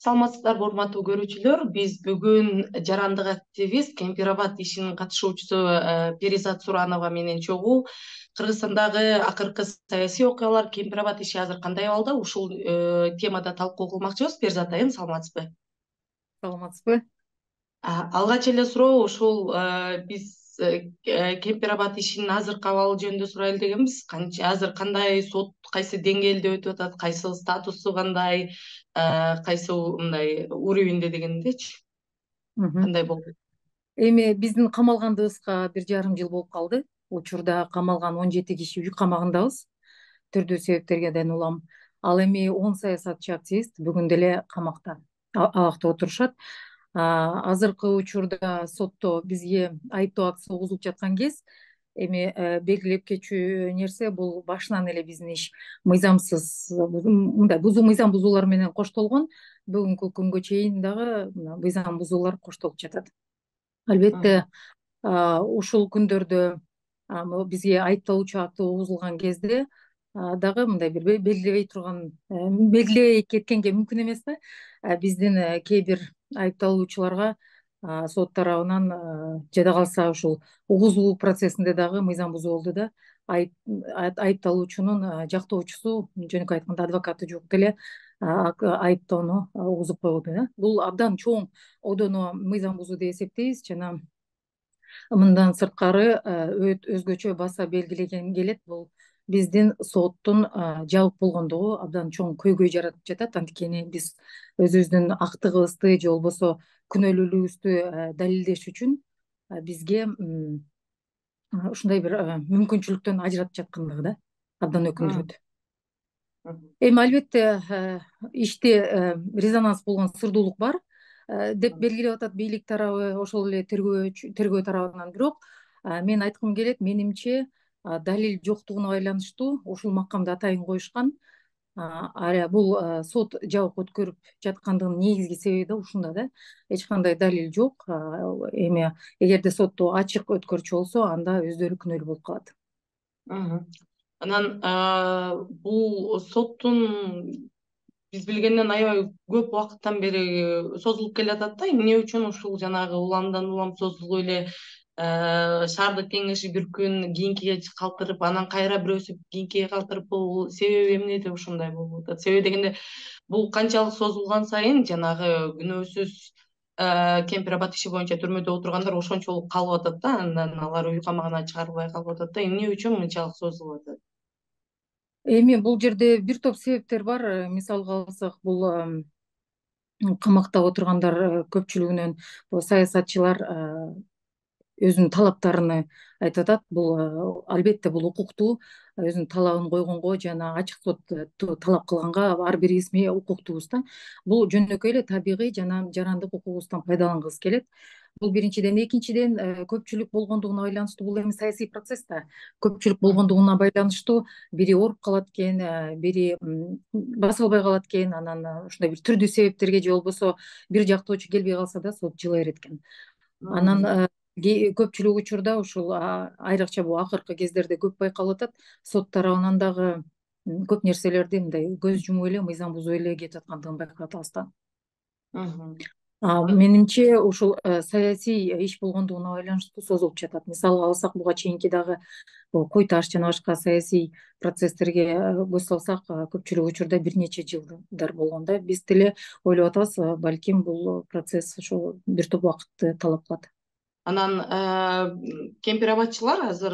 Саламатсыздарбы, урматтуу көрүүчүлөр. Биз бүгүн жарандык активист, Кемпир-Абад ишинин катышуучусу Перизат Суранова менен чогуу Кыргызстандагы акыркы саясий окуялар, Кемпир-Абад иши азыр кандай абалда, ушул темада талкуу кылмакчыбыз. Перизат айым, саламатсызбы? Саламатсызбы? Алгач эле суроо ушул биз Кемпир-Абад ишинин азыркы абалы жөнүндө сурайлы дегенбиз. Азыр кандай сот кайсы деңгээлде өтүп атат, кайсы статусу кандай, кайсы мындай уровеньде дегендечи кандай болду? Эми биздин камалгандыбызга 1,5 жыл болуп калды. Учурда камалган 17 киши үй камагындабыз. Түрдүү себептерден улам. Ал эми 10 саясатчы активист бүгүн деле камакта, абакта отурушат. Азыркы учурда сотто бизге айыптоо актысы угузулуп жаткан кез эми белгилеп кетчү нерсе бул башынан эле биздин иш мыйзамсыз, мындай мыйзам бузуулар менен коштолгон. Бүгүнкү күнгө чейин дагы мыйзам бузуулар коштолуп жатат. Албетте, ушул күндөрдө бизге айыпталуучу акты угузулган кезде дагы мындай бир белгилебей кеткенге мүмкүн эмес да. Биздин кээ бир айыпталуучуларга сот тарабынан жада калса ушул угузуу процессинде дагы мыйзам бузуу болду да. Айыпталуучунун жактоочусу, жөнөкөй айтканда адвокаты жок деле айыптоону угузуп койду да. Бул абдан чоң одоно мыйзам бузуу деп эсептейбиз жана мындан сырткары өзгөчө баса белгилеген келет. Бул биздин соттун жабык болгондугу абдан чоң көйгөй жаратып жатат. Анткени биз өзүбүздүн актыгыбызды же болбосо күнөөлүүлүгүбүздү далилдеш үчүн бизге ушундай бир мүмкүнчүлүктөн ажыратып жаткандыгы да абдан өкүндүрөт. Эми албетте иште резонанс болгон сырдуулук бар деп белгилеп атат бийлик тарабы, ошол эле тергөө тарабынан. Бирок мен айткым келет, менимче далил жоктугуна байланыштуу ушул макамды атайын коюшкан. Бул сот жабык өткөрүп жаткандыгынын негизги себеби да ушунда да. Эч кандай далил жок. Эми эгерде сотту ачык өткөрчү болсо, анда өздөрү күнөөлүү болуп калат. Анан бул соттун биз билгенден аябай көп убакыттан бери созулуп келатат да. Эмне үчүн ушул жанагы уламдан улам созулуп эле шаардык кеңеши бир күн кийинкиге калтырып, анан кайра бирөөсү кийинкиге калтырып, бул себеби эмнеде ушундай болуп атат? Себеби дегенде бул канчалык созулган сайын жанагы күнөөсүз Кемпир-Абад иши боюнча түрмөдө отургандар ошончолук калып атат да, андан алар үй камагынан чыгарылбай калып атат да. Эмне үчүн мынчалык созулуп атат? Эми бул жерде бир топ себептер бар. Мисалга алсак, бул камакта отургандар көпчүлүгүнөн саясатчылар өзүнүн талаптарын айтып атат. Бул албетте бул укуктуу, өзүнүн талабын койгонго жана ачык сотто талап кылганга ар бирибиз укуктуубуз да. Бул жөнөкөй эле табигый жана жарандык укугубуздан пайдалангыбыз келет. Бул биринчиден. Экинчиден, көпчүлүк болгондугуна байланыштуу. Бул эми саясий процесс да. Көпчүлүк болгондугуна байланыштуу бири ооруп калат экен, бири баса албай калат экен, анан ушундай бир түрдүү себептерге же болбосо бир жактоочу келбей калса да сот жыла берет экен. Анан көпчүлүк учурда ушул айрыкча бул акыркы кездерде көп байкалып атат. Сот тарабынан дагы көп нерселерди мындай көз жумуп эле, мыйзам бузуп эле кетип аткандыгын байкап атабыз да. Менимче ушул саясий иш болгондугуна байланыштуу созулуп жатат. Мисалга алсак, буга чейинки дагы кой таш жана башка саясий процесстерге көз салсак, көпчүлүк учурда бир нече жылдар болгон да. Биз деле ойлоп атабыз, балким бул процесс ошол бир топ убакытты талап кылат. Анан Кемпир-Абадчылар азыр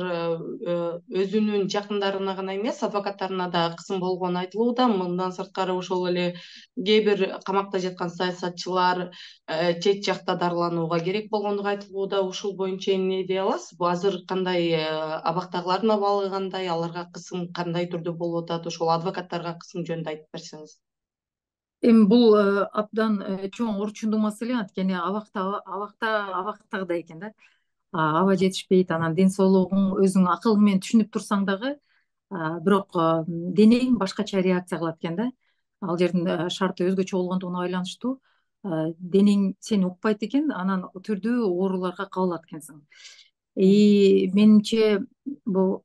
өзүнүн жакындарына гана эмес, адвокаттарына да кысым болгону айтылууда. Мындан сырткары ошол эле кээ бир камакта жаткан саясатчылар чет жакта дарыланууга керек болгондугу айтылууда. Ушул боюнча эмне дей аласыз? Бул азыр кандай, абактагылардын абалы кандай, аларга кысым кандай түрдө болуп атат? Ошол адвокаттарга кысым жөнүндө айтып берсеңиз. Эми бул абдан чоң орчундуу маселе. Анткени абактагыдай экен да. Аба жетишпейт, анан ден соолугуң өзүң акылың менен түшүнүп турсаң дагы, бирок денең башкача реакция кылат экен да. Ал жердин шарты өзгөчө болгондугуна байланыштуу денең сени укпайт экен, анан түрдүү ооруларга кабылат экенсиң. Менимче бул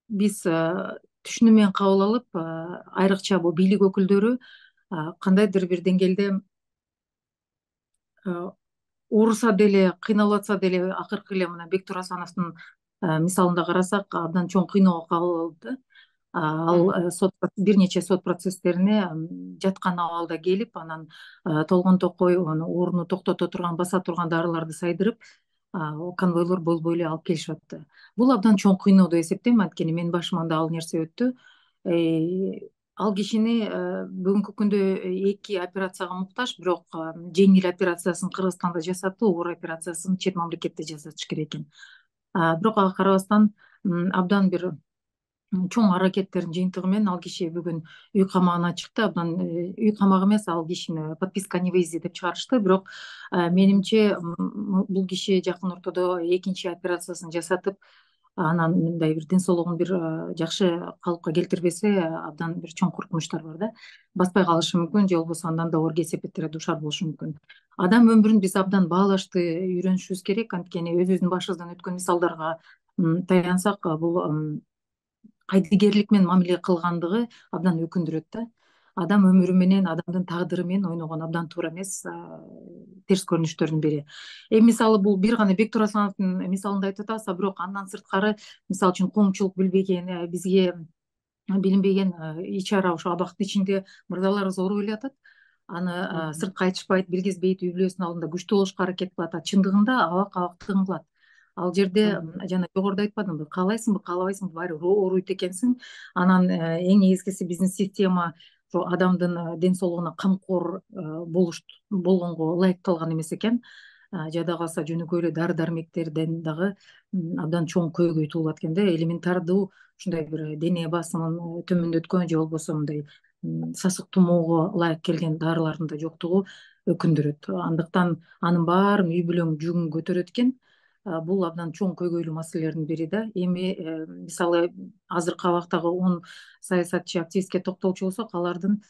биз түшүнүү менен кабыл алып, айрыкча бул бийлик өкүлдөрү кандайдыр бир деңгээлде ооруса деле, кыйналып атса деле, акыркы эле мына Бектур Асановдун мисалында карасак, абдан чоң кыйноого кабыл алды. Ал бир нече сот процесстерине жаткан абалда келип, анан толгон токой ооруну токтото турган, баса турган дарыларды сайдырып, конвойлор болбой эле алып келишип атты. Бул абдан чоң кыйноо деп эсептейм, анткени менин башыман да ал нерсе өттү. Ал кишини бүгүнкү күндө 2 операцияга муктаж, бирок жеңил операциясын Кыргызстанда жасатты, оор операциясын чет мамлекетте жасатыш керек экен. Бирок ага карабастан абдан бир чоң аракеттердин жыйынтыгы менен ал киши бүгүн үй камагына чыкты. Абдан үй камак эмес, ал кишини подписка о невыезде деп чыгарышты. Бирок менимче бул киши жакын ортодо экинчи операциясын жасатып, анан мындай бир ден соолугун бир жакшы калыпка келтирбесе, абдан бир чоң коркунучтар бар да. Баспай калышы мүмкүн, же болбосо андан да оор кесепеттерге дуушар болушу мүмкүн. Адам өмүрүн биз абдан баалашты үйрөнүшүбүз керек, анткени өзүбүздүн башыбыздан өткөн мисалдарга таянсак, бул кайдыгерлик менен мамиле кылгандыгы абдан өкүндүрөт да. Адам өмүрү менен, адамдын тагдыры менен ойногон абдан туура эмес, терс көрүнүштөрдүн бири. Мисалы бул бир гана Бектур Асановдун мисалында айтып атабыз, бирок андан сырткары, мисалы үчүн коомчулук билбеген, бизге билинбеген ичара ошо абактын ичинде мырзаларыбыз ооруп эле атат. Аны сыртка айтышпайт, билгизбейт, үй бүлөсүнүн алдында күчтүү болушка аракет кылат. Чындыгында абак абактыгын кылат. Ал жерде жана жогоруда айтпадымбы, каалайсыңбы, каалабайсыңбы, баары бир ооруйт экенсиң. Анан эң негизгиси биздин система ошо адамдын ден соолугуна камкор болгонго ылайыкталган эмес экен. Жада калса жөнөкөй эле дары дармектерден дагы абдан чоң көйгөй туулат экен да. Элементардуу ушундай бир дене басымын төмөндөткөн, же болбосо мындай сасык тумоого ылайык келген дарылардын да жоктугу өкүндүрөт. Андыктан анын баарын үй бүлөң жүгүн көтөрөт экен. Бул абдан чоң көйгөйлүү маселелердин бири да. Эми мисалы азыркы абактагы 10 саясатчы, активистке токтолчу болсок, алардын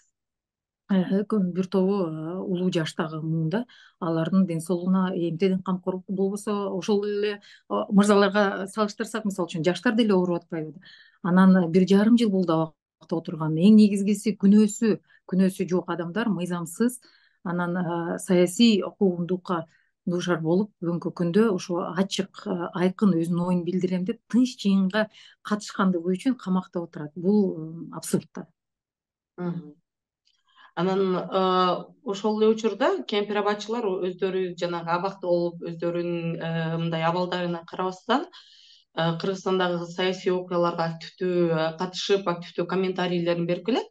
бир тобу улуу жаштагы муунда. Алардын ден соолугуна эмтеден камкор болбосо, ошол эле мырзаларга салыштырсак, мисалы үчүн жаштар деле ооруп атпайбы. Анан 1,5 жыл болду абакта отурган. Эң негизгиси күнөөсү жок адамдар мыйзамсыз, анан саясий куугунтукка дуушар болуп, бүгүнкү күндө ошо ачык, айкын өзүнүн оюн билдирем деп тынч жыйынга катышкандыгы үчүн камакта отурат. Бул абсурд да. Анан ошол эле учурда кемпир абадчылар өздөрү жанагы абакта болуп, өздөрүнүн мындай абалдарына карабастан Кыргызстандагы саясий окуяларга активдүү катышып, активдүү комментарийлерин берип келет.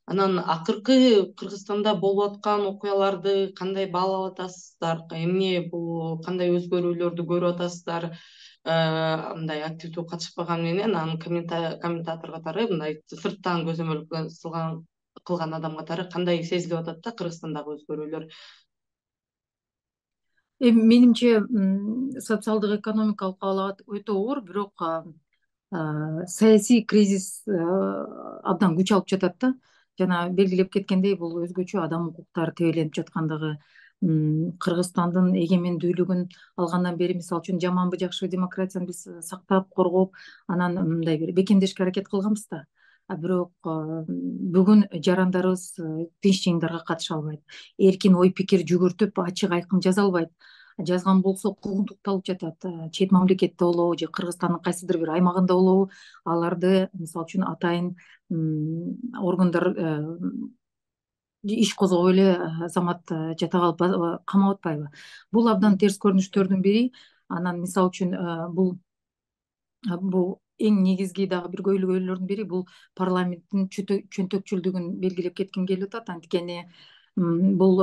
Анан акыркы Кыргызстанда болуп аткан окуяларды кандай баалап атасыздар? Эмне бул, кандай өзгөрүүлөрдү көрүп атасыздар? Мындай активдүү катышпаган менен, анан комментатор катары, мындай сырттан көзөмөл кылган адам катары кандай сезилип атат да Кыргызстандагы өзгөрүүлөр? Менимче социалдык экономикалык абал өтө оор, бирок саясий кризис абдан күч алып жатат да. Жана белгилеп кеткендей, бул өзгөчө адам укуктары тебеленип жаткандыгы, Кыргызстандын эгемендүүлүгүн алгандан бери, мисалы үчүн жаманбы жакшыбы демократияны биз сактап, коргоп, анан мындай бир бекемдешке аракет кылганбыз да. Бирок бүгүн жарандарыбыз тынч жыйындарга катыша албайт. Эркин ой пикир жүгүртүп, ачык айкын жаза албайт. Жазган болсо куугунтукталып жатат. Чет мамлекетте болобу же Кыргызстандын кайсыдыр бир аймагында болобу, аларды мисалы үчүн атайын органдар иш козгоп эле азамат жата калып камап атпайбы. Бул абдан терс көрүнүштөрдүн бири. Анан мисалы үчүн бул эң негизги дагы бир көйгөйлөрдүн бири, бул парламенттин чөнтөкчүлдүгүн белгилеп кетким келип атат. Анткени бул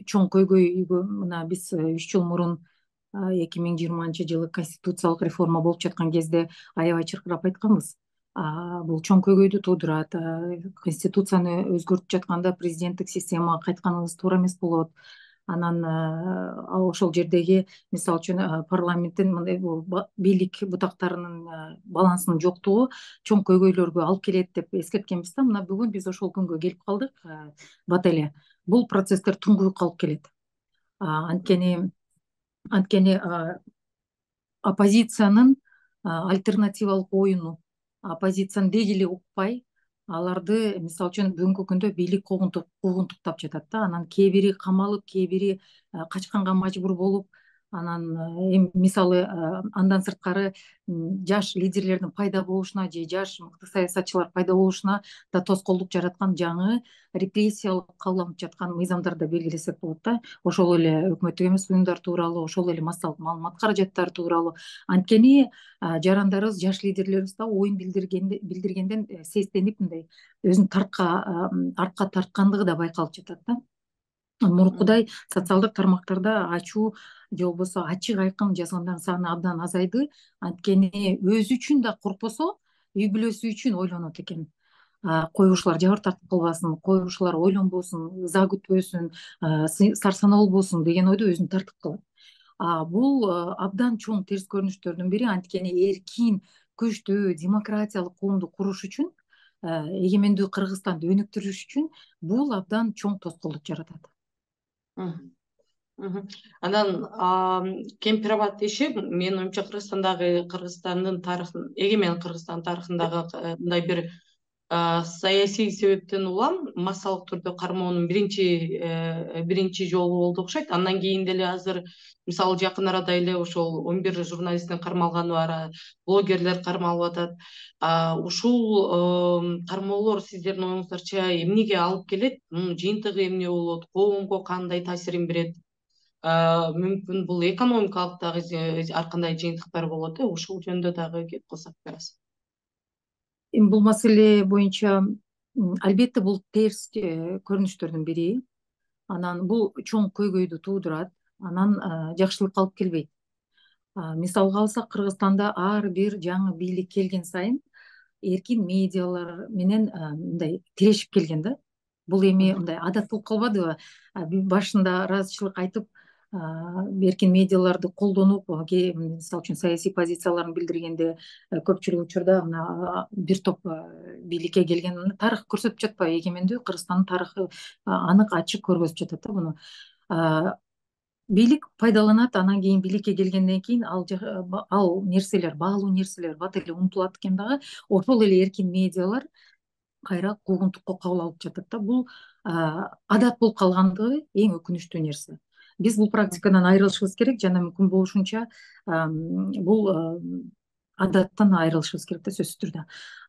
чоң көйгөйгө мына биз 3 жыл мурун 2020-жылы конституциялык реформа болуп жаткан кезде аябай чыркырап айтканбыз. Бул чоң көйгөйдү туудурат. Конституцияны өзгөртүп жатканда президенттик системага кайтканыбыз туура эмес болот. Анан ошол жердеги, мисалы үчүн, парламенттин мындай бийлик бутактарынын балансынын жоктугу чоң көйгөйлөргө алып келет деп эскерткенбиз да. Мына бүгүн биз ошол күнгө келип калдык. Бат эле бул процесстер туңгуюкка алып келет. Анткени оппозициянын альтернативалык оюну, оппозициянын деги эле укпай, аларды мисалы үчүн бүгүнкү күндө бийлик куугунтуктап жатат да, анан кээ бири камалып, кээ бири качканга мажбур болуп, анан эми мисалы андан сырткары жаш лидерлердин пайда болушуна же жаш мыкты саясатчылар пайда болушуна да тоскоолдук жараткан жаңы репрессиялык кабыл алынып жаткан мыйзамдарды белгилесек болот да. Ошол эле өкмөттүк эмес уюмдар тууралуу, ошол эле массалык маалымат каражаттары тууралуу. Анткени жарандарыбыз, жаш лидерлерибиз да оюн билдиргенден сестенип мындай өзүн артка тарткандыгы да байкалып жатат да. Мурункудай социалдык тармактарда ачуу же болбосо ачык айкын жазгандардын саны абдан азайды. Анткени өзү үчүн да коркпосо, үй бүлөсү үчүн ойлонот экен. Койгушулар жабыр тартып калбасын, койгушулар ойлонбосун, ыза күтпөсүн, сарсанаа болбосун деген ойдо өзүн тартып калат. Бул абдан чоң терс көрүнүштөрдүн бири. Анткени эркин, күчтүү, демократиялык коомду куруш үчүн, эгемендүү Кыргызстанды өнүктүрүш үчүн бул абдан чоң тоскоолдук жаратат. Анан кемпир аба иши менин оюмча Кыргызстандын тарыхын, эгемен Кыргызстан тарыхындагы мындай бир саясий себептен улам массалык түрдө кармоонун биринчи жолу болду окшойт. Андан кийин деле азыр мисалы жакын арада эле ошол 11 журналисттин кармалганы бар, блогерлер кармалып атат. Ушул кармоолор сиздердин оюңуздарча эмнеге алып келет? Мунун жыйынтыгы эмне болот? Коомго кандай таасирин берет? Мүмкүн бул экономикалык дагы ар кандай жыйынтыктар болот. Ушул жөнүндө дагы кеп кылсак берасыз. Эми бул маселе боюнча албетте бул терс көрүнүштөрдүн бири. Анан бул чоң көйгөйдү туудурат. Анан жакшылыкка алып келбейт. Мисалга алсак, Кыргызстанда ар бир жаңы бийлик келген сайын эркин медиалар менен мындай тирешип келген да. Бул эми мындай адат болуп калбадыбы? Башында ыраазычылык айтып, эркин медиаларды колдонуп, мисалы үчүн саясий позицияларын билдиргенде көпчүлүк учурда мына бир топ бийликке келген тарых көрсөтүп жатпайбы? Эгемендүү Кыргызстандын тарыхы анык ачык көргөзүп жатат да муну. Бийлик пайдаланат, анан кийин бийликке келгенден кийин ал нерселер, баалуу нерселер бат эле унутулат экен дагы. Ошол эле эркин медиалар кайра куугунтукка кабыл алып жатат да. Бул адат болуп калгандыгы эң өкүнүчтүү нерсе. Биз бул практикадан айрылышыбыз керек жана мүмкүн болушунча бул адаттан айрылышыбыз керек да, сөзсүз түрдө.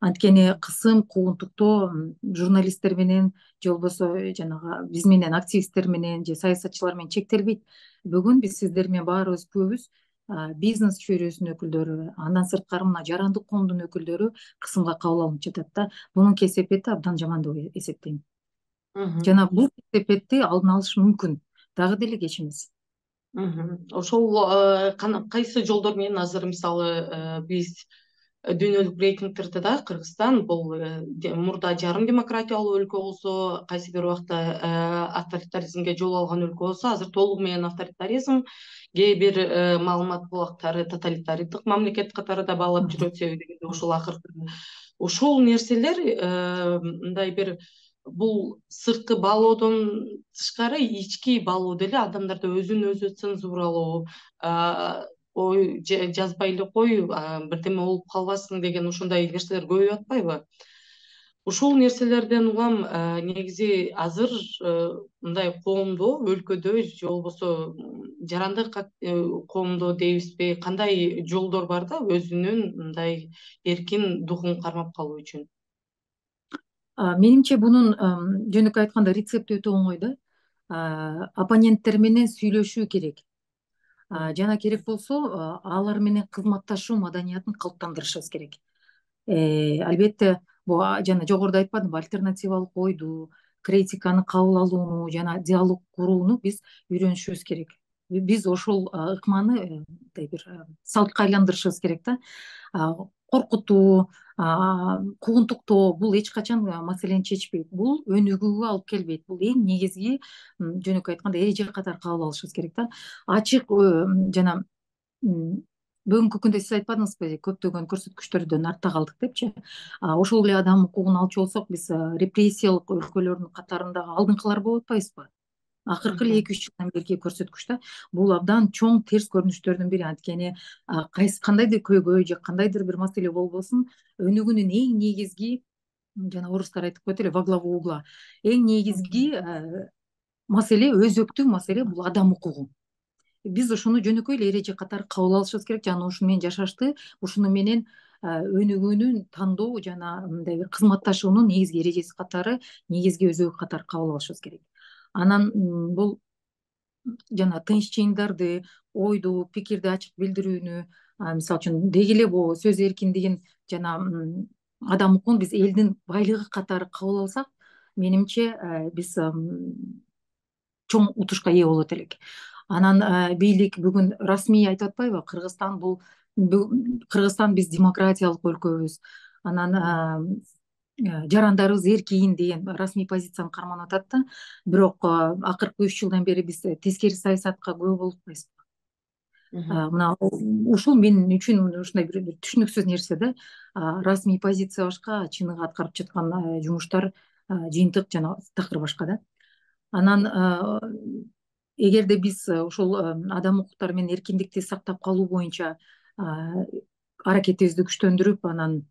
Анткени кысым, куугунтуктоо журналисттер менен же болбосо жанагы биз менен активисттер менен же саясатчылар менен чектелбейт. Бүгүн биз сиздер менен баарыбыз күбүбүз бизнес чөйрөсүнүн өкүлдөрү, андан сырткары мына жарандык коомдун өкүлдөрү кысымга кабыл алынып жатат да. Бунун кесепети абдан жаман деп эсептейм. Жана бул кесепетти алдын алыш мүмкүн, дагы деле кеч эмес. Ошол кайсы жолдор менен азыр мисалы биз дүйнөлүк рейтингтерде да Кыргызстан бул мурда жарым демократиялуу өлкө болсо, кайсы бир убакта авторитаризмге жол алган өлкө болсо, азыр толугу менен авторитаризм, кээ бир маалымат булактары тоталитардык мамлекет катары да баалап жүрөт. Себеби дегенде ушул акыркы ушул нерселер мындай бир бул сырткы баалоодон тышкары ички баалоо деле, адамдарда өзүн өзү цензуралоо, ой жазбай эле кой, бирдеме болуп калбасын деген ушундай нерселер көбөйүп атпайбы? Ушул нерселерден улам негизи азыр мындай коомдо, өлкөдө же болбосо жарандык коомдо дейбизби, кандай жолдор бар да өзүнүн мындай эркин духун кармап калуу үчүн? Менимче бунун жөнөкөй айтканда рецепти өтө оңой да. Оппоненттер менен сүйлөшүү керек. Жана керек болсо алар менен кызматташуу маданиятын калыптандырышыбыз керек. Албетте бул жана жогоруда айтпадымбы, альтернативалык ойду, критиканы кабыл алууну жана диалог курууну биз үйрөнүшүбүз керек. Биз ошол ыкманы мындай бир салтка айландырышыбыз керек да. Коркутуу, куугунтуктоо бул эч качан маселени чечпейт. Бул өнүгүүгө алып келбейт. Бул эң негизги жөнөкөй айтканда эреже катары кабыл алышыбыз керек да. Ачык жана бүгүнкү күндө сиз айтпадыңызбы, көптөгөн көрсөткүчтөрдөн артта калдык депчи. Ошол эле адам укугун алчу болсок, биз репрессиялык өлкөлөрдүн катарындагы алдыңкылар болуп атпайбызбы? Акыркы эле 2-3 жылдан берки көрсөткүч да. Бул абдан чоң терс көрүнүштөрдүн бири. Анткени кандайдыр көйгөй же кандайдыр бир маселе болбосун, өнүгүүнүн эң негизги жана орустар айтып коет эле во главу угла. Эң негизги маселе, өзөктүү маселе бул адам укугу. Биз ушуну жөнөкөй эле эреже катары кабыл алышыбыз керек жана ушуну менен жашашты, ушуну менен өнүгүүнүн тандоо жана мындай бир кызматташуунун негизги эрежеси катары, негизги өзөгү катары кабыл алышыбыз керек. Анан бул жана тынч чыйымдарды, ойду, пикирди ачык билдирүүнү, мисалы үчүн деги эле бул сөз эркиндигин жана адам укугун биз элдин байлыгы катары кабыл алсак, менимче биз чоң утушка ээ болот элек. Анан бийлик бүгүн расмий айтып атпайбы, Кыргызстан биз демократиялык өлкөбүз. Анан жарандарыбыз эркин деген расмий позицияны карманып атат да. Бирок акыркы 3 жылдан бери биз тескери саясатка күбө болуп атпайбызбы? Мына ушул мен үчүн ушундай бир түшүнүксүз нерсе да. Расмий позиция башка, чыныгы аткарып жаткан жумуштар жыйынтык жана такыр башка да. Анан эгерде биз ушул адам укуктары менен эркиндикти сактап калуу боюнча аракетибизди күчтөндүрүп, анан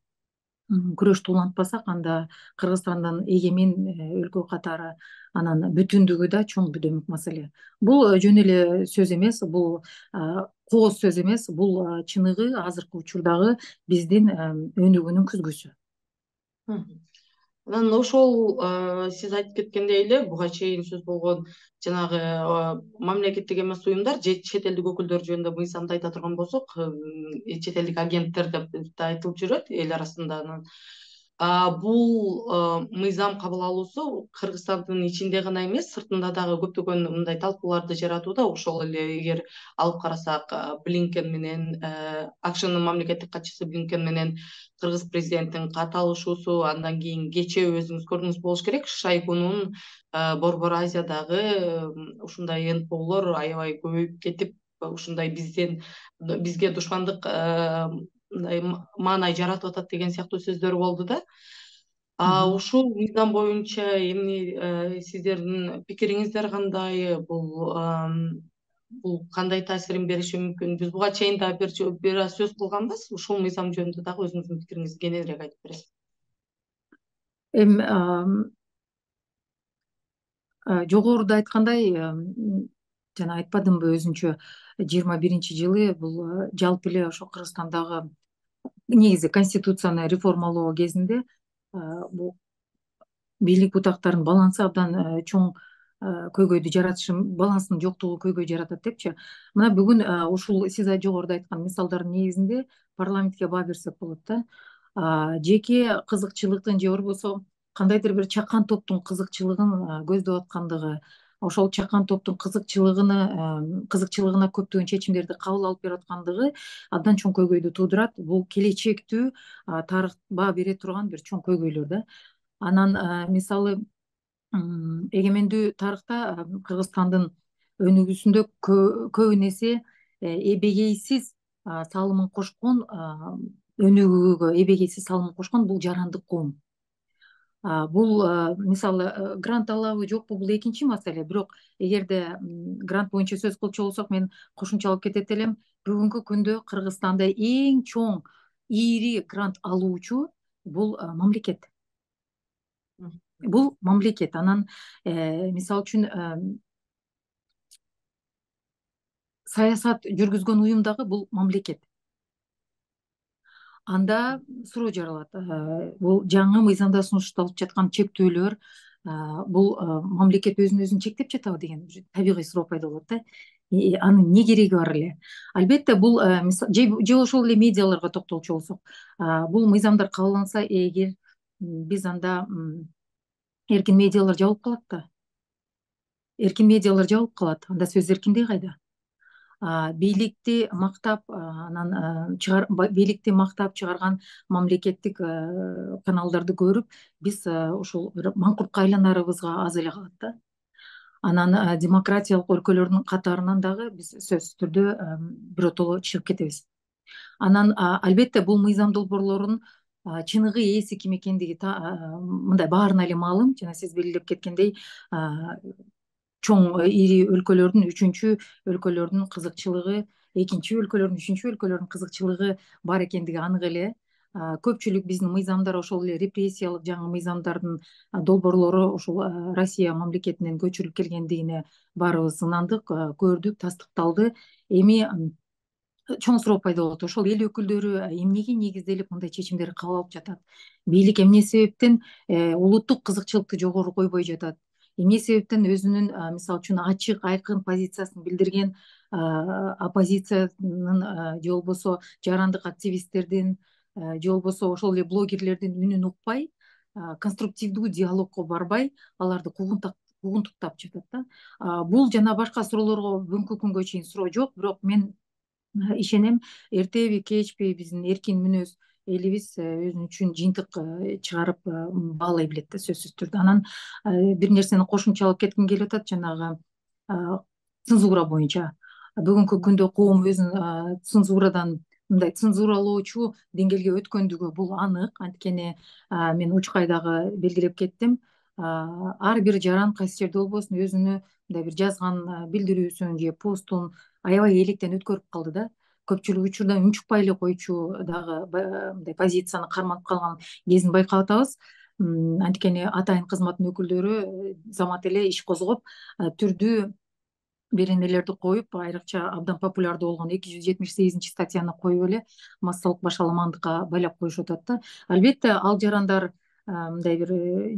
күрөштү улантпасак, анда Кыргызстандын эгемен өлкө катары анан бүтүндүгү да чоң бүдөмүк маселе. Бул жөн эле сөз эмес, бул кооз сөз эмес, бул чыныгы азыркы учурдагы биздин өнүгүүнүн күзгүсү. Анан ошол сиз айтып кеткендей эле буга чейин сөз болгон жанагы мамлекеттик эмес уюмдар же чет элдик өкүлдөр жөнүндө мыйзамды айта турган болсок, чет элдик агенттер деп да айтылып жүрөт эл арасында. Анан бул мыйзам кабыл алуусу Кыргызстандын ичинде гана эмес, сыртында дагы көптөгөн мындай талкууларды жаратууда. Ошол эле эгер алып карасак, Блинкен менен АКШнын мамлекеттик катчысы Блинкен менен кыргыз президентинин кат алышуусу, андан кийин кечээ өзүңүз көрдүңүз болуш керек, Шойгунун Борбор Азиядагы ушундай НПОлор аябай көбөйүп кетип, ушундай бизге душмандык мындай маанай жаратып атат деген сыяктуу сөздөр болду да. Ушул мыйзам боюнча эмне сиздердин пикириңиздер кандай? Бул кандай таасирин бериши мүмкүн? Биз буга чейин да бир аз сөз кылганбыз. Ушул мыйзам жөнүндө дагы өзүңүздүн пикириңизди кененирээк айтып бересиз. Эми жогоруда айткандай, жана айтпадымбы өзүнчө 21-жылы бул жалпы эле ошо Кыргызстандагы негизи конституцияны реформалоо кезинде бул бийлик бутактарынын балансы абдан чоң көйгөйдү жаратышы, баланстын жоктугу көйгөй жаратат депчи. Мына бүгүн ушул сиз жогоруда айткан мисалдардын негизинде парламентке баа берсек болот да. Жеке кызыкчылыктын же болбосо кандайдыр бир чакан топтун кызыкчылыгын көздөп аткандыгы, ошол чакан топтун кызыкчылыгына көптөгөн чечимдерди кабыл алып берип аткандыгы абдан чоң көйгөйдү туудурат. Бул келечектүү тарых баа бере турган бир чоң көйгөйлөр да. Анан мисалы эгемендүү тарыхта Кыргызстандын өнүгүүсүндө көбүн эсе эбегейсиз салымын кошкон, өнүгүүгө эбегейсиз салымын кошкон бул жарандык коом. Бул мисалы грант алабы жокпу, бул экинчи маселе. Бирок эгерде грант боюнча сөз кылчу болсок, мен кошумчалап кетет элем. Бүгүнкү күндө Кыргызстанда эң чоң ири грант алуучу бул мамлекет. Бул мамлекет. Анан мисалы үчүн саясат жүргүзгөн уюм дагы бул мамлекет. Анда суроо жаралат. Бул жаңы мыйзамда сунушталып жаткан чектөөлөр, бул мамлекет өзүн чектеп жатабы деген табигый суроо пайда болот да. Анын эмне кереги бар эле? Албетте бул же ошол эле медиаларга токтолчу болсок, бул мыйзамдар кабылданса эгер, биз анда эркин медиалар жабылып калат да. Эркин медиалар жабылып калат. Анда сөз эркиндиги кайда? Бийликти мактап, анан бийликти мактап чыгарган мамлекеттик каналдарды көрүп, биз ушул бир маңкуртка айланарыбызга аз эле калат да. Анан демократиялык өлкөлөрдүн катарынан дагы биз сөзсүз түрдө биротоло чыгып кетебиз. Анан албетте бул мыйзам долбоорлорунун чыныгы ээси ким экендиги мындай баарына эле маалым. Жана сиз белгилеп кеткендей, чоң ири өлкөлөрдүн, үчүнчү өлкөлөрдүн кызыкчылыгы, экинчи өлкөлөрдүн, үчүнчү өлкөлөрдүн кызыкчылыгы бар экендиги анык эле. көпчүлүк биздин мыйзамдар ошол эле репрессиялык жаңы мыйзамдардын долбоорлору ушул Россия мамлекетинен көчүрүлүп келгендигине баарыбыз ынандык, көрдүк, тастыкталды. Эми чоң суроо пайда болот. Ошол эл өкүлдөрү эмнеге негизделип мындай чечимдерди кабыл алып жатат? Бийлик эмне себептен улуттук кызыкчылыкты жогору койбой жатат? Эмне себептен өзүнүн мисалы үчүн ачык, айкын позициясын билдирген оппозициянын же болбосо жарандык активисттердин же болбосо ошол эле блогерлердин үнүн укпай, конструктивдүү диалогко барбай, аларды куугунтуктап жатат да. Бул жана башка суроолорго бүгүнкү күнгө чейин суроо жок, бирок мен ишенем, эртеби кечпи биздин эркин мүнөз элибиз өзү үчүн жыйынтык чыгарып баалай билет да, сөзсүз түрдө. Анан бир нерсени кошумчалап кетким келип атат, жанагы цензура боюнча. Бүгүнкү күндө коом өзүн цензурадан мындай цензуралоочу деңгээлге өткөндүгү бул анык. Анткени мен учкай дагы белгилеп кеттим. Ар бир жаран кайсы жерде болбосун өзүнө мындай бир жазган билдирүүсүн же постун аябай электен өткөрүп калды да. Көпчүлүк учурда үн чыкпай эле койчу дагы мындай позицияны карманып калган кезин байкап атабыз. Анткени атайын кызматтын өкүлдөрү замат эле иш козгоп, түрдүү беренелерди коюп, айрыкча абдан популярдуу болгон 278 статьяны коюп эле массалык башаламандыкка байлап коюшуп атат да. Албетте ал жарандар мындай бир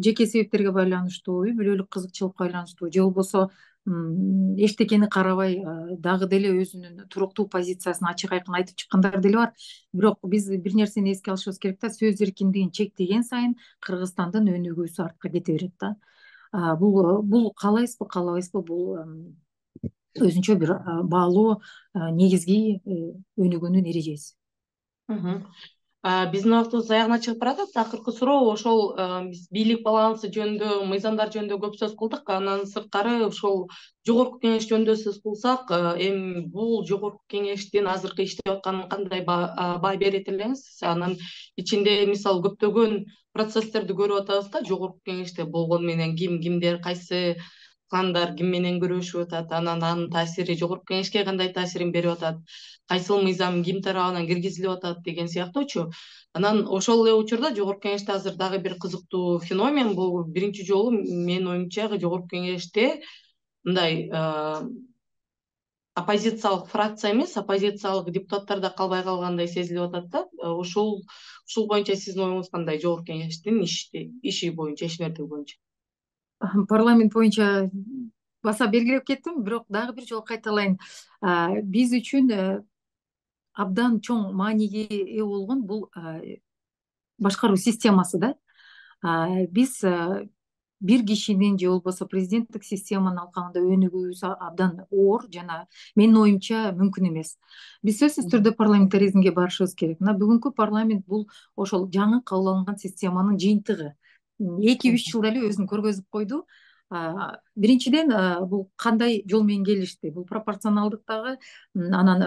жеке себептерге байланыштуу, үй бүлөлүк кызыкчылыкка байланыштуу же болбосо эчтекени карабай дагы деле өзүнүн туруктуу позициясын ачык айкын айтып чыккандар деле бар. Бирок биз бир нерсени эске алышыбыз керек да, сөз эркиндигин чектеген сайын Кыргызстандын өнүгүүсү артка кете берет да. Бул каалайбызбы, каалабайсызбы, бул өзүнчө бир баалуу негизги өнүгүүнүн эрежеси. Биздин убактыбыз аягына чыгып баратат. Акыркы суроо ошол биз бийлик балансы жөнүндө, мыйзамдар жөнүндө көп сөз кылдык. Андан сырткары ошол жогорку кеңеш жөнүндө сөз кылсак, эми бул жогорку кеңештин азыркы иштеп атканына кандай баа берет элеңиз? Анын ичинде мисалы көптөгөн процесстерди көрүп атабыз да, жогорку кеңеште болгону менен кимдер, кайсы кландар ким менен күрөшүп атат, анан анын таасири жогорку кеңешке кандай таасирин берип атат, кайсыл мыйзам ким тарабынан киргизилип атат деген сыяктуучу. Анан ошол эле учурда жогорку кеңеште азыр дагы бир кызыктуу феномен, бул биринчи жолу менин оюмча жогорку кеңеште мындай оппозициялык фракция эмес, оппозициялык депутаттар да калбай калгандай сезилип атат да. Ушул боюнча сиздин оюңуз кандай, жогорку кеңештин иши боюнча, ишмердиги боюнча? Парламент боюнча баса белгилеп кеттим, бирок дагы бир жолу кайталайын. Биз үчүн абдан чоң мааниге ээ болгон бул башкаруу системасы да. Биз бир кишинин же болбосо президенттик системанын алкагында өнүгүүбүз абдан оор жана менин оюмча мүмкүн эмес. Биз сөзсүз түрдө парламентаризмге барышыбыз керек. Мына бүгүнкү парламент бул ошол жаңы кабыл алынган системанын жыйынтыгы. 2-3 жылда эле өзүн көргөзүп койду. Биринчиден, бул кандай жол менен келишти? Бул пропорционалдык дагы, анан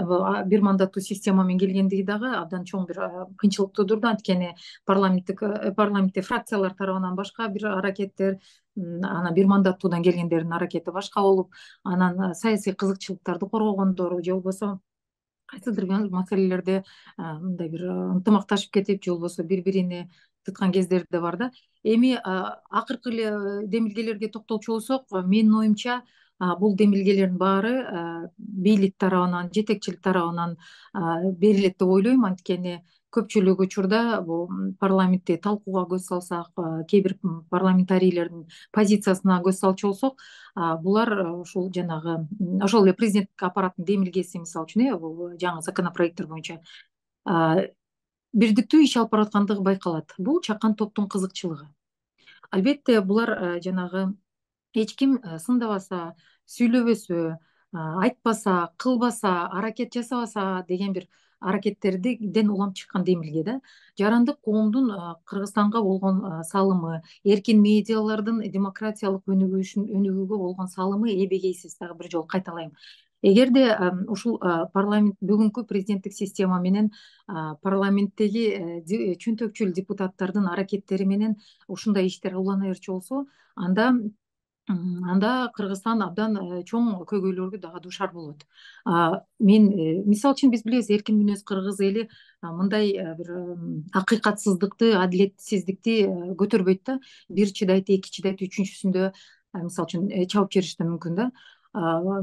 бир мандаттуу система менен келгендиги дагы абдан чоң бир кыйынчылык туудурду. Анткени парламентте фракциялар тарабынан башка бир аракеттер, анан бир мандаттуудан келгендердин аракети башка болуп, анан саясий кызыкчылыктарды коргогондору же болбосо кайсылдыр маселелерде мындай бир ынтымакташып кетип, же болбосо бири-бирине тыткан кездер да бар да. Эми акыркы эле демилгелерге токтолчу болсок, менин оюмча бул демилгелердин баары бийлик тарабынан, жетекчилик тарабынан берилет деп ойлойм. Анткени көпчүлүк учурда бул парламентти талкууга көз салсак, кээ бир парламентарийлердин позициясына көз салчу болсок, булар ушул жанагы ошол эле президенттик аппараттын демилгеси, мисалы үчүн бул жаңы законопроекттер боюнча бирдиктүү иш алып бараткандыгы байкалат. Бул чакан топтун кызыкчылыгы. Албетте булар жанагы эч ким сындабаса, сүйлөбөсө, айтпаса, кылбаса, аракет жасабаса деген бир аракеттерден улам чыккан демилге да. Жарандык коомдун Кыргызстанга болгон салымы, эркин медиалардын демократиялык өнүгүүгө болгон салымы эбегейсиз. Дагы бир жолу кайталайм. Эгерде ушул парламент бүгүнкү президенттик система менен парламенттеги чөнтөкчүл депутаттардын аракеттери менен ушундай иштер улана берчү болсо, анда анда Кыргызстан абдан чоң көйгөйлөргө дагы дуушар болот. Мен мисалы үчүн биз билебиз, эркин мүнөз кыргыз эли мындай бир акыйкатсыздыкты, адилетсиздикти көтөрбөйт да. Бир чыдайт, эки чыдайт, үчүнчүсүндө мисалы үчүн чабып жибериши да мүмкүн да.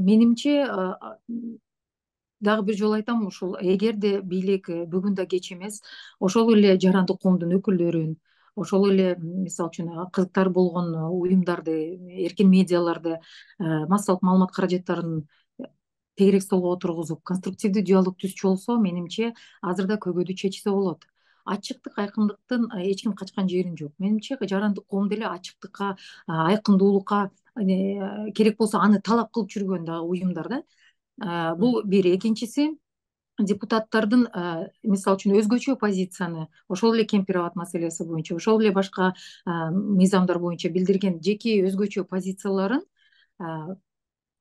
Менимче дагы бир жолу айтам, ушул эгерде бийлик бүгүн да кеч эмес, ошол эле жарандык коомдун өкүлдөрүн, ошол эле мисалы үчүн кызыктар болгон уюмдарды, эркин медиаларды, массалык маалымат каражаттарын тегерек столго отургузуп, конструктивдүү диалог түзчү болсо, менимче азыр да көйгөйдү чечсе болот. Ачыктык, айкындыктын эч ким качкан жерин жок. Менимче жарандык коом деле ачыктыкка, айкындуулукка, керек болсо аны талап кылып жүргөн дагы уюмдар да. Бул бир. Экинчиси, депутаттардын мисалы үчүн өзгөчө позицияны ошол эле кемпир абад маселеси боюнча, ошол эле башка мыйзамдар боюнча билдирген жеке өзгөчө позицияларын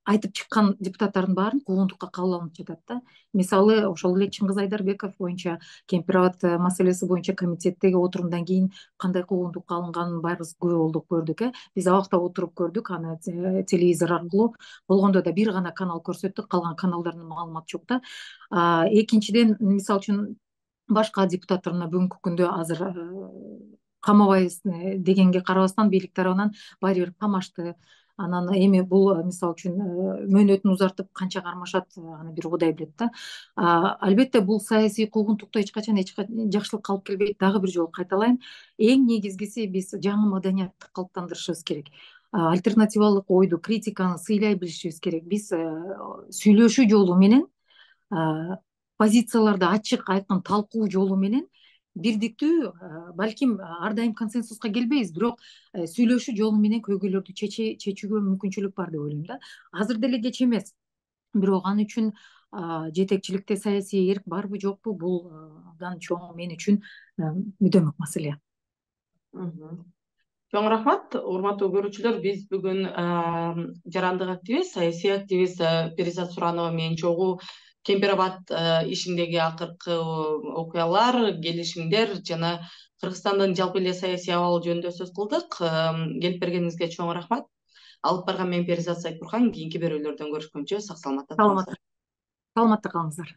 айтып чыккан депутаттардын баарын куугунтукка кабыл алынып жатат да. Мисалы, ошол эле Чыңгыз Айдарбеков боюнча, кемпир абад маселеси боюнча комитеттеги отурумдан кийин кандай куугунтукка алынганын баарыбыз күбө болдук, көрдүк. Биз абакта отуруп көрдүк аны телевизор аркылуу. Болгондо да бир гана канал көрсөттү, калган каналдарда маалымат жок да. Экинчиден, мисалы үчүн башка депутаттар мына бүгүнкү күндө азыр камабайбыз дегенге карабастан бийлик тарабынан баары бир камашты. Анан эми бул мисалы үчүн мөөнөтүн узартып канча кармашат, аны бир Кудай билет да. Албетте бул саясий куугунтукту эч качан жакшылыкка алып келбейт. Дагы бир жолу кайталайм, эң негизгиси биз жаңы маданиятты калыптандырышыбыз керек. Альтернативалык ойду, критиканы сыйлай билишибиз керек. Биз сүйлөшүү жолу менен, позицияларды ачык, айкын талкуу жолу менен бирдиктүү, балким ар дайым консенсуска келбейбиз, бирок сүйлөшүү жолу менен көйгөйлөрдү чечүүгө мүмкүнчүлүк бар деп ойлойм да. Азыр деле кеч эмес, бирок ал үчүн жетекчиликте саясий эрк барбы жокпу, бул абдан чоң мен үчүн мүдөмөк маселе. Чоң рахмат, урматтуу көрүүчүлөр. Биз бүгүн жарандык активист, саясий активист Перизат Суранова менен чогуу кемпир абад ишиндеги акыркы окуялар, келишимдер жана Кыргызстандын жалпы эле саясий абалы жөнүндө сөз кылдык. Келип бергениңизге чоң рахмат. Алып барган мен Перизат Сайпурхан. Кийинки берүүлөрдөн көрүшкөнчө сак саламатта туруңуздар. Саламатта калыңыздар.